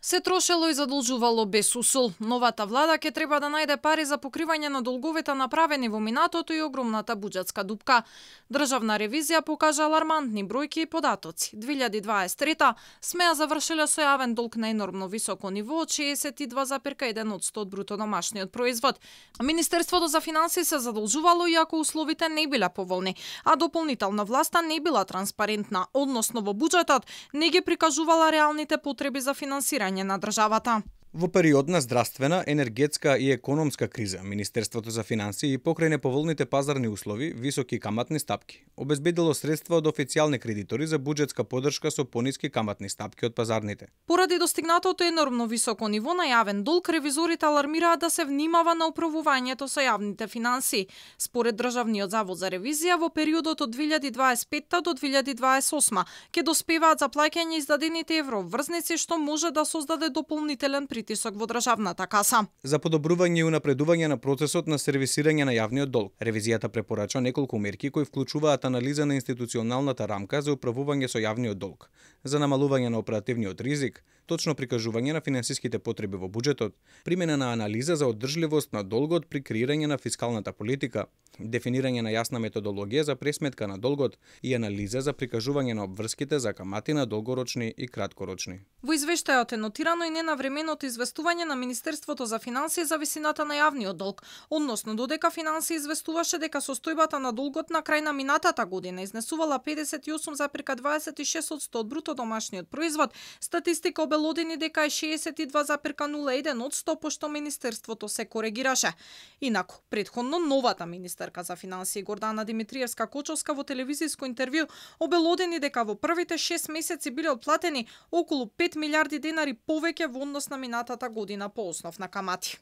Се трошело и задолжувало без усул. Новата влада ќе треба да најде пари за покривање на долговите направени во минатото и огромната буџетска дупка. Државна ревизија покажа алармантни бројки и податоци. 2023 СМЕА завршиле со јавен долг на енормно високо ниво од 62,1% од бруто домашниот производ. Министерството за финансии се задолжувало иако условите не биле поволни, а дополнителна власта не била транспарентна, односно во буџетот не ги прикажувала реалните потреби за финансирање на државата. Во период на здравствена, енергетска и економска криза, Министерството за финансии покрај неповолните пазарни услови, високи каматни стапки, обезбедило средства од официјални кредитори за буџетска поддршка со пониски каматни стапки од пазарните. Поради достигнатото енормно високо ниво на јавен долг, ревизорите алармираат да се внимава на управувањето со јавните финансии. Според Државниот завод за ревизија, во периодот од 2025 до 2028 ќе доспеваат за плаќање издадените евроврзници, што може да создаде дополнителен притисок во државната каса. За подобрување и унапредување на процесот на сервисирање на јавниот долг, ревизијата препорача неколку мерки кои вклучуваат анализа на институционалната рамка за управување со јавниот долг, за намалување на оперативниот ризик, точно прикажување на финансиските потреби во буџетот, примена на анализа за одржливост на долгот при креирање на фискалната политика, дефинирање на јасна методологија за пресметка на долгот и анализа за прикажување на обврските за камати на долгорочни и краткорочни. Во извештајот е нотирано и ненавременото известување на Министерството за финансии за висината на јавниот долг, односно додека финансии известуваше дека состојбата на долгот на крај на минатата година изнесувала 58,26% од бруто домашниот производ, статистика обелодени дека е 62,01%, пошто Министерството се коригираше. Инаку, претходно новата министерка за финансии Гордана Димитриевска-Кочовска во телевизиско интервју обелодени дека во првите 6 месеци биле отплатени околу 5 милиарди денари повеќе во однос на минатата година по основ на камати.